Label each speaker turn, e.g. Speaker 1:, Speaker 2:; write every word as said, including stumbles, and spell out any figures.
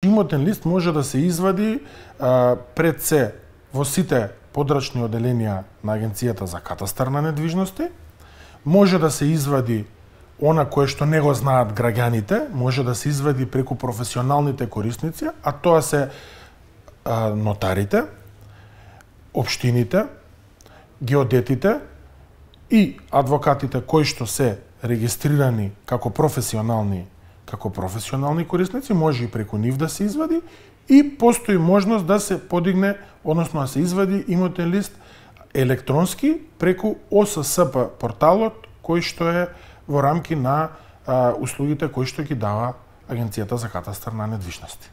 Speaker 1: Имотен лист може да се извади а, пред се во сите подрачни оделенија на Агенцијата за катастар на недвижности, може да се извади она кое што не го знаат граѓаните, може да се извади преку професионалните корисници, а тоа се а, нотарите, општините, геодетите и адвокатите кои што се регистрирани како професионални како професионални корисници, може и преку нив да се извади и постои можност да се подигне, односно да се извади имотен лист електронски преку О С С П порталот кој што е во рамки на а, услугите кои што ги дава Агенцијата за катастар на недвижности.